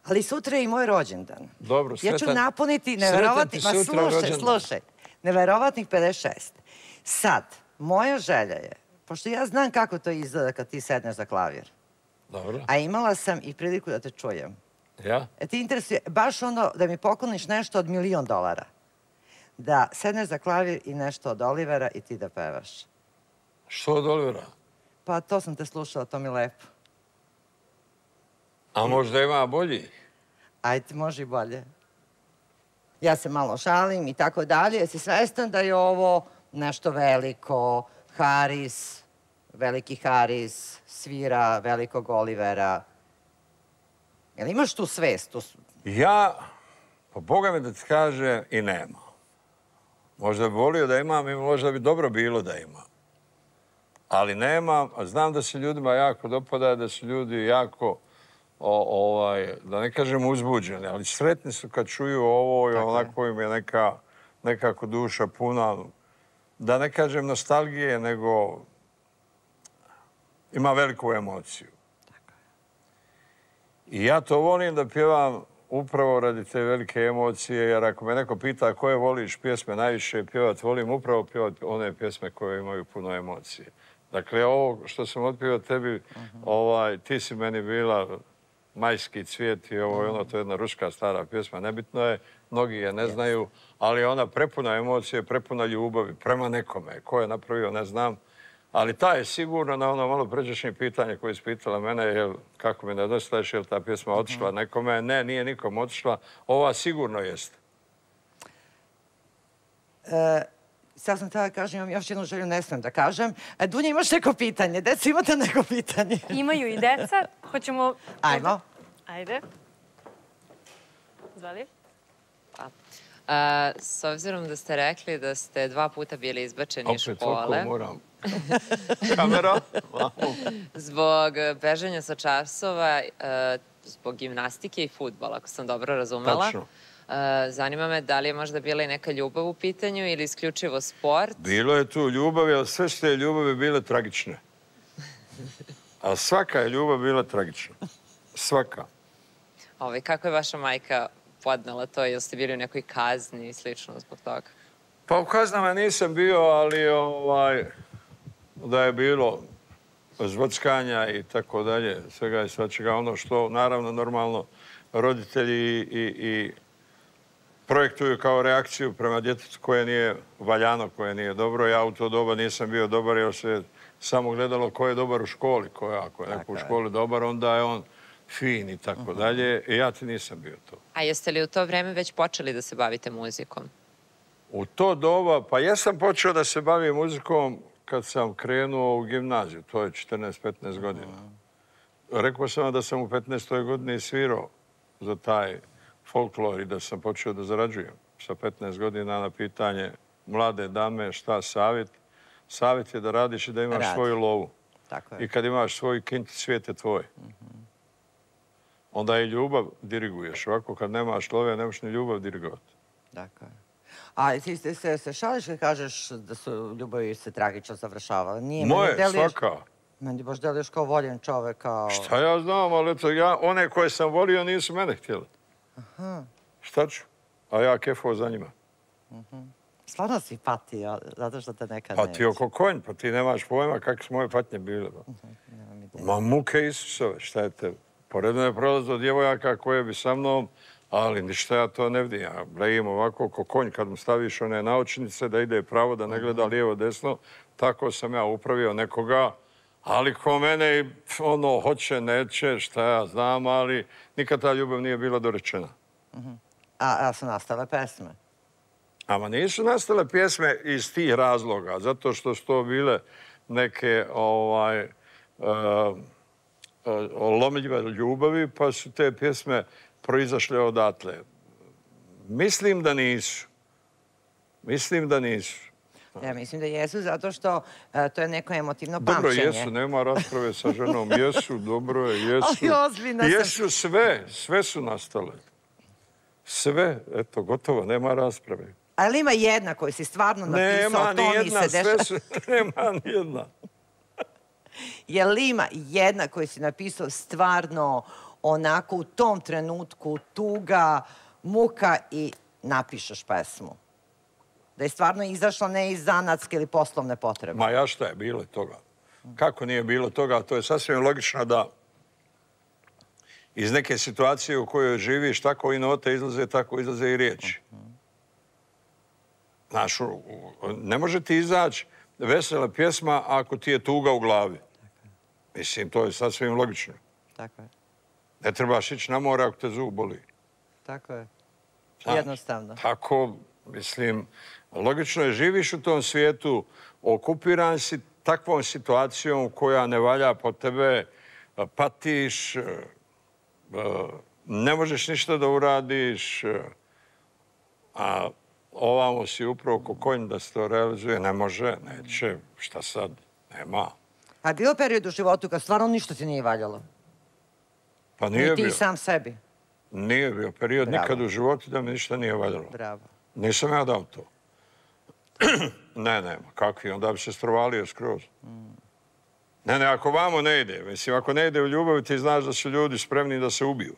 Ali sutra je i moj rođendan. Dobro, sretan. Ja ću napuniti neverovatnih... Ma slušaj, slušaj. Neverovatnih pedeset šest. Sad, moja želja je, pošto ja znam kako to izgleda kad ti sedneš za klavir. Dobro. A imala sam i priliku da te čujem. Ja? E ti interesuje, baš ono da mi pokloniš nešto od milion dolara. Da sedneš za klavir i nešto od Olivera i ti da pevaš. Što od Olivera? Pa to sam te slušala, to mi je lepo. A možda ima bolji? Ajde, može i bolje. Ja se malo šalim i tako dalje. Jesi svestan da je ovo nešto veliko? Haris, veliki Haris, svira velikog Olivera. Jel imaš tu svest? Ja, po Boga mi da ti kaže, i nema. Možda bi volio da imam i možda bi dobro bilo da imam. Ali nemam, a znam da se ljudima jako dopada, da su ljudi jako da ne kažem uzbuđeni, ali sretni su kad čuju ovo i onako im je nekako duša puna, da ne kažem nostalgije, nego ima veliku emociju. I ja to volim da pjevam upravo radi te velike emocije, jer ako me neko pita koje voliš pjesme najviše pjevat, volim upravo pjevat one pjesme koje imaju puno emocije. Dakle, ovo što sam otpjevao tebi, ti si meni bila Majski cvijet i ovo je ono, to je jedna ruska stara pjesma. Nebitno je, mnogi je ne znaju, ali ona prepuna emocije, prepuna ljubavi prema nekome. Ko je napravio, ne znam. Ali ta je sigurno na ono malo pređašnje pitanje koje je ispitala mene, kako mi nedostaješ, je li ta pjesma otišla nekome? Ne, nije nikom otišla. Ova sigurno jeste. Sad sam tada kažem, imam još jednu želju, ne smijem da kažem. Dunja, imaš neko pitanje? Deca, imate neko pitanje? Imaju i deca. Hoćemo... Ajmo. Ajde. Zvali? S obzirom da ste rekli da ste dva puta bili izbačeni iz škole... Opet, oko moram. Kamera. Zbog bežanja sa časova, zbog gimnastike i fudbala, ako sam dobro razumela. Tačno. Zanima me da li je možda bila i neka ljubav u pitanju ili isključivo sport? Bilo je tu ljubavi, ali sve su te ljubavi bile tragične. A svaka je ljubav bila tragična. Svaka. Kako je vaša majka podnela to? Jel ste bili u nekoj kazni i slično zbog toga? Pa u kaznama nisam bio, ali da je bilo zvockanja i tako dalje, svega i svačega. Ono što, naravno, normalno roditelji i projektuju kao reakciju prema djetetu koje nije valjano, koje nije dobro. Ja u to doba nisam bio dobar, jer se samo gledalo ko je dobar u školi. Ako je neko u školi dobar, onda je on fin i tako dalje. I ja ti nisam bio to. A jeste li u to vreme već počeli da se bavite muzikom? U to doba, pa jesam počeo da se bavim muzikom kad sam krenuo u gimnaziju. To je četrnaest petnaest godina. Rekao sam da sam u petnaestoj godini svirao za taj folklor i da sam počeo da zarađujem sa petnaest godina na pitanje mlade dame šta savjet. Savjet je da radiš i da imaš svoju lovu. I kad imaš svoj kint, svijet je tvoj. Onda i ljubav diriguješ. Ovako kad nemaš love, nemaš ni ljubav dirigovati. Dakle. A ti se šališ kad kažeš da su ljubavi se tragično završavale? Moje, svaka. Meni baš deliš kao voljen čovek, kao... Šta ja znam, ali eto, one koje sam volio nisu mene htjeli. Šta ću? A ja kefao za njima. Stvarno si patio, zato što te nekad neće. Patio ko konj, pa ti nemaš pojma kakve su moje patnje bile. Ma muke Isusove, šta je te? Poredno je prolazilo djevojaka koje bi sa mnom, ali ništa ja to ne vidim. Ja brejim ovako ko konj kad mu staviš one naočnice da ide pravo, da ne gleda lijevo, desno. Tako sam ja upravio nekoga. Ali ko mene, ono, hoće, neće, šta ja znam, ali nikad ta ljubav nije bila dorečena. A su nastale pesme? Ama nisu nastale pjesme iz tih razloga, zato što su to bile neke lomljive ljubavi, pa su te pjesme proizašle odatle. Mislim da nisu. Mislim da nisu. Ja mislim da jesu, zato što to je neko emotivno pamćenje. Dobro, jesu, nema rasprave sa ženom. Jesu, dobro je, jesu. Ali ozbiljno sam. Jesu sve, sve su nastale. Sve, eto, gotovo, nema rasprave. Ali ima jedna koju si stvarno napisao, to mi se dešava. Nema ni jedna. Je li ima jedna koju si napisao stvarno onako u tom trenutku tuga, muka i napišeš pesmu? Da je stvarno izašla ne iz zanatske ili poslovne potrebe. Ma ja šta je bilo toga? Kako nije bilo toga? To je sasvim logično da iz neke situacije u kojoj živiš, tako i note izlaze, tako izlaze i riječi. Znaš, ne može ti izaći vesela pjesma ako ti je tuga u glavi. Mislim, to je sasvim logično. Tako je. Ne trebaš ići na more ako te zub boli. Tako je. Jednostavno. Tako, mislim, logično je, živiš u tom svijetu, okupiran si takvom situacijom koja ne valja po tebe, patiš, ne možeš ništa da uradiš, a ovamo si upravo ko konj da se to realizuje. Ne može, neće, šta sad, nema. A je bilo period u životu kad stvarno ništa ti nije valjalo? Pa nije bio. I ti sam sebi. Nije bio period nikad u životu da mi ništa nije valjalo. Bravo. Nisam ja dao to. Ne, ne, kakvi, onda bi se strovalio skroz. Ne, ne, ako vamo ne ide, mislim, ako ne ide u ljubavi, ti znaš da su ljudi spremni da se ubiju.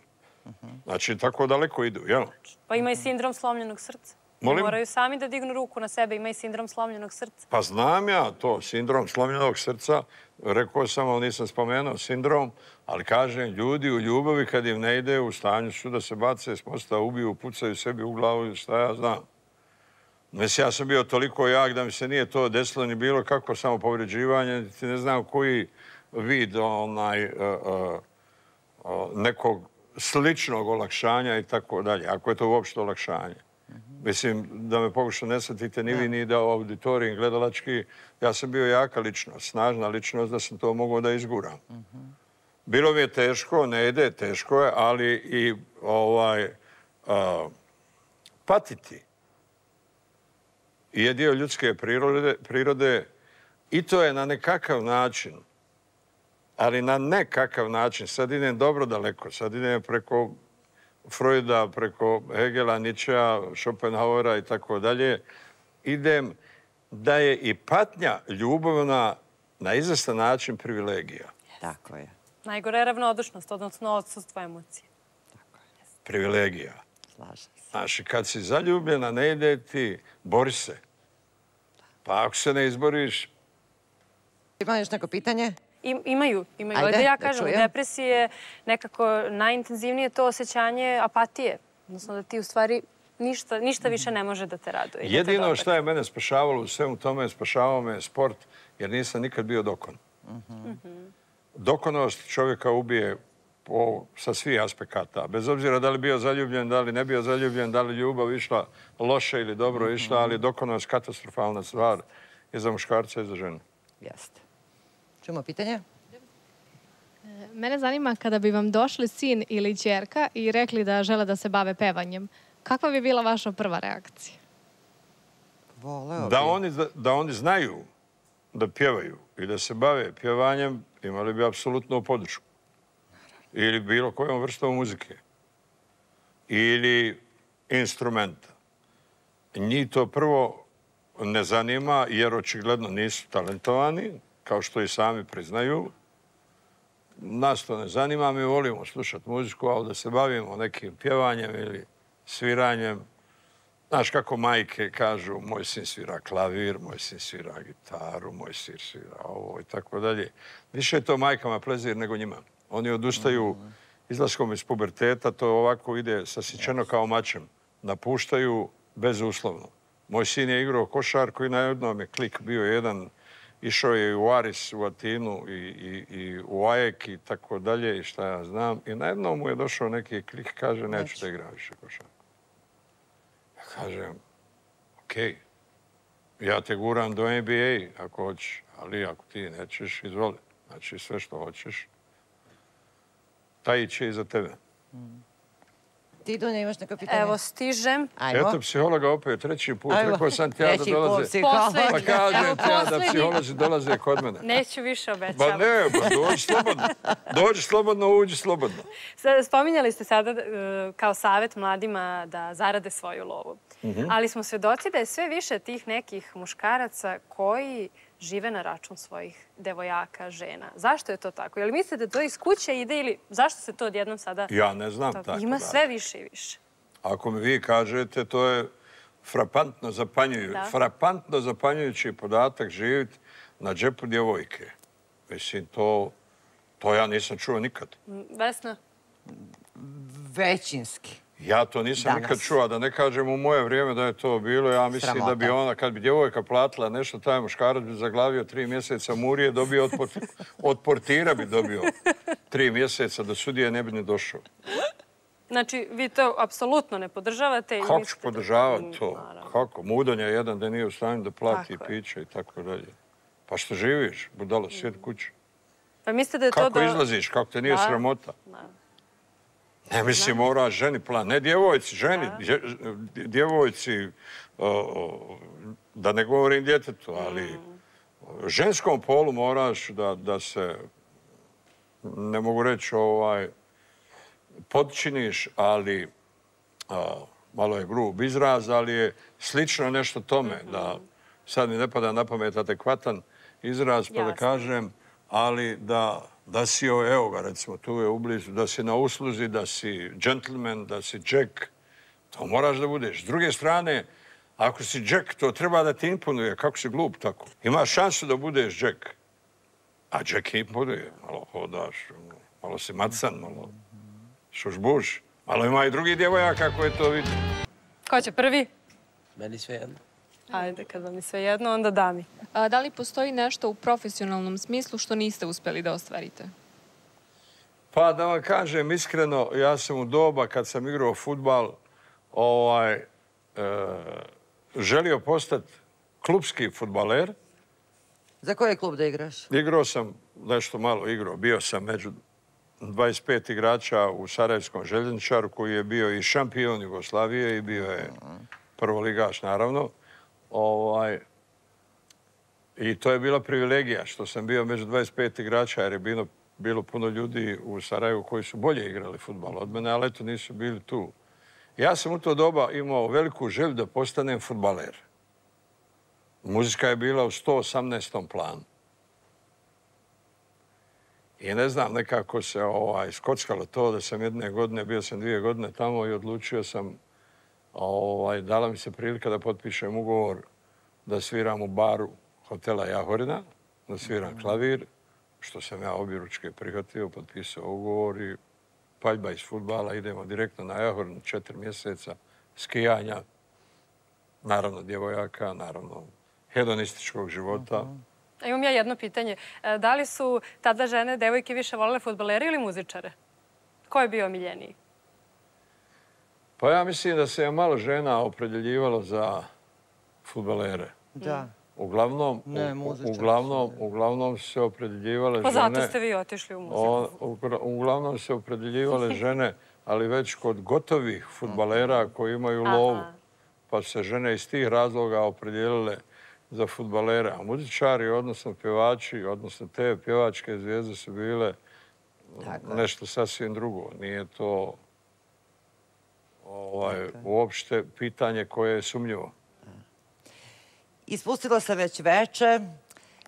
Znači, tako daleko idu, jel? Pa ima i sindrom slomljenog srca. Molim? Moraju sami da dignu ruku na sebe, ima i sindrom slomljenog srca. Pa znam ja to, sindrom slomljenog srca, rekao sam, ali nisam spomenuo sindrom, ali kažem, ljudi u ljubavi kad im ne ide, u stanju su da se bace s mosta, ubiju, pucaju sebi u glavu, šta ja znam. Mislim, ja sam bio toliko jak da mi se nije to desilo ni bilo kako samo povređivanje, ti ne znam koji vid onaj, nekog sličnog olakšanja i tako dalje, ako je to uopšte olakšanje. Mislim, da me pokuša ne shvatite ni vi ni da u auditoriju gledalački, ja sam bio jaka ličnost, snažna ličnost da sam to mogao da izguram. Bilo mi je teško, ne ide, teško je, ali i ovaj, patiti je dio ljudske prirode i to je na nekakav način, ali na nekakav način, sad idem dobro daleko, sad idem preko Freuda, preko Hegela, Nietzschea, Schopenhauera i tako dalje, idem da je i patnja ljubavna na izvestan način privilegija. Tako je. Najgore je ravnodušnost, odnosno odsustvo emocije. Privilegija. Slažem se. Znači, kad si zaljubljena, ne ide ti, bori se. Pa ako se ne izboriš... Ima još neko pitanje? Imaju, imaju. Ajde, da ja kažem, u depresiji je nekako najintenzivnije to osjećanje apatije. Odnosno da ti u stvari ništa više ne može da te raduje. Jedino što je mene spašavalo u svemu tome, spašavao me sport, jer nisam nikad bio dokon. Dokonost čovjeka ubije sa svih aspekata. Bez obzira da li bio zaljubljen, da li ne bio zaljubljen, da li ljubav išla loše ili dobro išla, ali dokonost katastrofalna stvar je za muškarca i za ženu. Jeste. Čujemo pitanje? Mene zanima kada bi vam došli sin ili ćerka i rekli da žele da se bave pevanjem, kakva bi bila vaša prva reakcija? Da oni znaju da pjevaju i da se bave pjevanjem, imali bi apsolutnu podršku. Ili bilo kojom vrstom muzike. Ili instrumenta. Njih to prvo ne zanima jer očigledno nisu talentovani, kao što i sami priznaju. Nas to ne zanima, mi volimo slušati muziku, ali da se bavimo nekim pjevanjem ili sviranjem. Znaš kako majke kažu, moj sin svira klavir, moj sin svira gitaru, moj sin svira ovo i tako dalje. Više je to majkama plezir nego njima. Oni odustaju izlaskom iz puberteta, to ovako ide sasićeno kao mačem. Napuštaju bezuslovno. Moj sin je igrao košarku i na jednom je klik bio jedan. Išao je i u Aris, u Atinu i u Ajek i tako dalje i šta ja znam. I na jednom mu je došao neki klik, kaže, neću da igram više košarku. Ja kažem, okej, ja te guram do N B A ako hoćeš, ali ako ti nećeš, izvoli. Znači sve što hoćeš, taj će i za tebe. Ti, Dunja, imaš neko pitanje? Evo, stižem. Eto, psihologa opet, treći put. Rekao sam ti ja da dolaze. Pa kažem ti ja da psiholozi dolaze kod mene. Neću više obećavati. Ba ne, ba dođi slobodno. Dođi slobodno, uđi slobodno. Spominjali ste sada kao savjet mladima da zarade svoju lovu. Ali smo svedoci da je sve više tih nekih muškaraca koji žive na račun svojih devojaka, žena. Zašto je to tako? Je li mislite da to iz kuće ide ili zašto se to odjednom sada... Ja ne znam tako. Ima sve više i više. Ako mi vi kažete, to je frapantno zapanjujući. Frapantno zapanjujući podatak živjeti na džepu djevojke. Mislim, to ja nisam čuo nikad. Vesna? Većinski. Ja to nisam nikad čuo, da ne kažem u moje vrijeme da je to bilo. Ja mislim da bi ona, kad bi djevojka platila nešto, taj muškarac bi zaglavio tri mjeseca murije, dobio od portira bi dobio tri mjeseca, do sudije ne bi ni došao. Znači, vi to apsolutno ne podržavate? Kako ću podržavati to? Kako? Mudonja je jedan da nije u stanju da plati piće i tako dalje. Pa što živiš? Budalo, sjedi kući. Kako izlaziš? Kako te nije sramota? Ne, mislim, mora ženi plan. Ne djevojci, ženi. Djevojci, da ne govorim djetetu, ali ženskom polu moraš da se, ne mogu reći, ovaj, potčiniš, ali malo je grub izraz, ali je slično nešto tome, da sad mi ne pada na pamet adekvatan izraz, pa da kažem, ali da da si, evo ga, recimo, tu je ublizu, da si na usluzi, da si džentlmen, da si džek, to moraš da budeš. S druge strane, ako si džek, to treba da ti imponuje. Kako si glup tako? Imaš šansu da budeš džek. A džek imponuje. Malo hodaš, malo si macan, malo šušbuš. Malo ima i drugi djevojaka koje to vidi. Ko će prvi? Meni sve jedno. Ajde, kad vam je sve jedno, onda da mi. A, da li postoji nešto u profesionalnom smislu što niste uspeli da ostvarite? Pa da vam kažem iskreno, ja sam u doba kad sam igrao fudbal ovaj, e, želio postati klubski fudbaler. Za koji klub da igraš? Igrao sam, nešto malo igrao. Bio sam među dvadeset pet igrača u Sarajevskom željezničaru koji je bio i šampion Jugoslavije i bio je prvoligaš, naravno. Ovaj, I to je bila privilegija što sam bio među dvadeset pet igrača, jer je bilo, bilo puno ljudi u Sarajevu koji su bolje igrali fudbal od mene, ali eto nisu bili tu. Ja sam u to doba imao veliku želju da postanem fudbaler. Muzika je bila u sto osamnaestom planu. I ne znam, nekako se ovaj, skockalo to da sam jedne godine, bio sam dvije godine tamo i odlučio sam, ovaj, dala mi se prilika da potpišem ugovor da sviram u baru hotela Jahorina, da sviram klavir, što sam ja objeručke prihvatio, potpisao ugovor i paljba iz fudbala, idemo direktno na Jahorin, četiri mjeseca skijanja, naravno djevojaka, naravno hedonističkog života. Imam ja jedno pitanje. Da li su tada žene, devojke više volele fudbalere ili muzičare? Ko je bio omiljeniji? Pa ja mislim da se je malo žena opredjeljivalo za fudbalere. Da. Uglavnom, ne, uglavnom, uglavnom se opredjeljivale žene... Pa zato ste vi otišli u muziku. Uglavnom se opredjeljivale žene, ali već kod gotovih fudbalera koji imaju lovu. Pa se žene iz tih razloga opredjelile za fudbalere. A muzičari, odnosno pjevači, odnosno te pjevačke zvijezde su bile nešto sasvim drugo. Nije to ovaj, uopšte pitanje koje je sumnjivo. Ispustila sam već veče,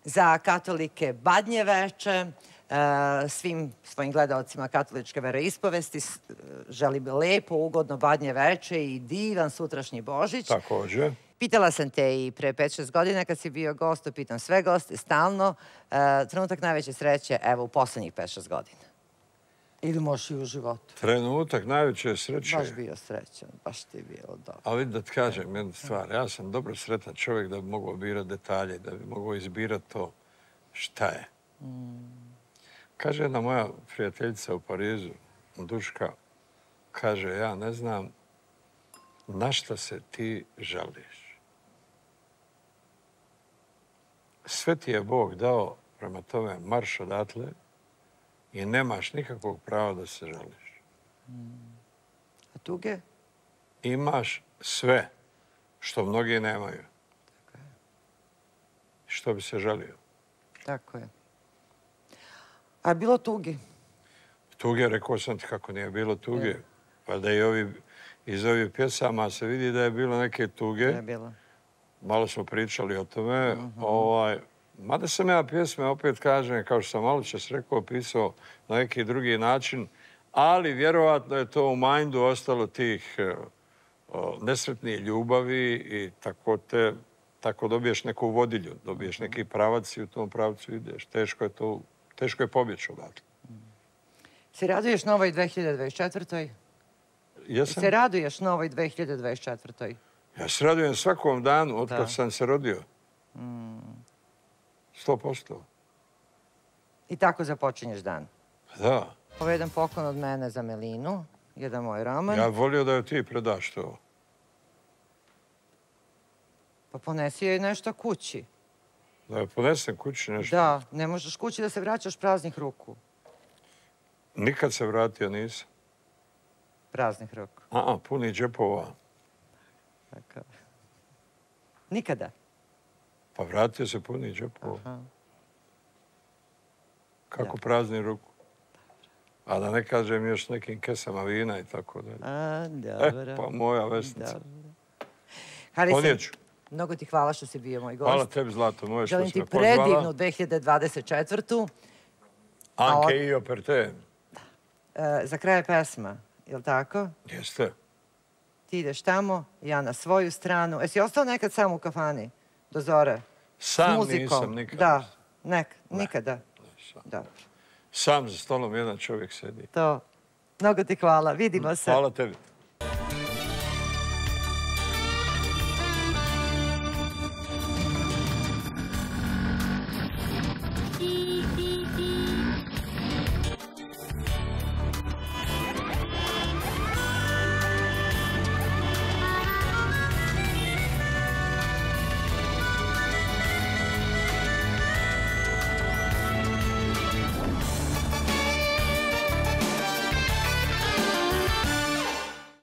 za katolike badnje veče, svim svojim gledalcima katoličke veroispovesti želim lepo, ugodno badnje veče i divan sutrašnji Božić. Također. Pitala sam te i pre pet šest godina kad si bio gost, pitam sve goste, stalno. Trenutak najveće sreće, evo, u poslednjih pet šest godina. Ili možeš i u životu. Trenutak najveće sreće. Baš bio srećan, baš ti je bilo dobro. Ali da ti kažem jednu stvar, ja sam dobro sretan čovjek da bi mogao birati detalje, da bi mogao izbirati to šta je. Kaže jedna moja prijateljica u Parizu, Duška, kaže, ja ne znam na šta se ti žališ. Sve ti je Bog dao, prema tome marš odatle i nemaš nikakvog prava da se žališ. A tuge? Imaš sve što mnogi nemaju. Što bi se žalio. Tako je. A bilo tugi? Tuge, rekao sam ti kako nije bilo tuge. Pa da i ovi, iz ovih pjesama se vidi da je bilo neke tuge. Je bilo. Malo smo pričali o tome. Ovaj, mada sam ja pjesme, opet kažem, kao što sam malo čas rekao, pisao na neki drugi način, ali vjerovatno je to u mindu ostalo tih nesretnih ljubavi i tako te, tako dobiješ neku vodilju, dobiješ neki pravac i u tom pravcu ideš. Teško je to, teško je pobjeći odatle. Se raduješ novoj dve hiljade dvadeset četvrtoj? Jesam. Se raduješ novoj dve hiljade dvadeset četvrtoj? Ja se radujem svakom danu od kad sam se rodio. Sto posto. I tako započinješ dan? Da. Ovo je jedan poklon od mene za Melinu, jedan moj roman. Ja volio da joj ti predaš to. Pa ponesi joj nešto kući. Da joj ponesem kući nešto? Da, ne možeš kući da se vraćaš praznih ruku. Nikad se vratio nisam. Praznih ruku? A, puni džepova. Nikada? Pa vratio se puni džepova. Kako prazni ruku? A da ne kažem još nekim kesama vina i tako dalje. A, dobro. E, pa moja Vesnica. Harice, mnogo ti hvala što si bio moj gost. Hvala tebi, Zlato, moje što si me pozvala. pozvala. Želim ti predivnu dve hiljade dvadeset četvrtu. Anke io per te. Za kraj pesma, je li tako? Jeste. Ti ideš tamo, ja na svoju stranu. Jesi ostao nekad sam u kafani? Do zore? Sam nisam nikada. Da, nekad, nikada. Dobro. Sam za stolom jedan čovjek sedi. To. Mnogo ti hvala. Vidimo se. Hvala tebi.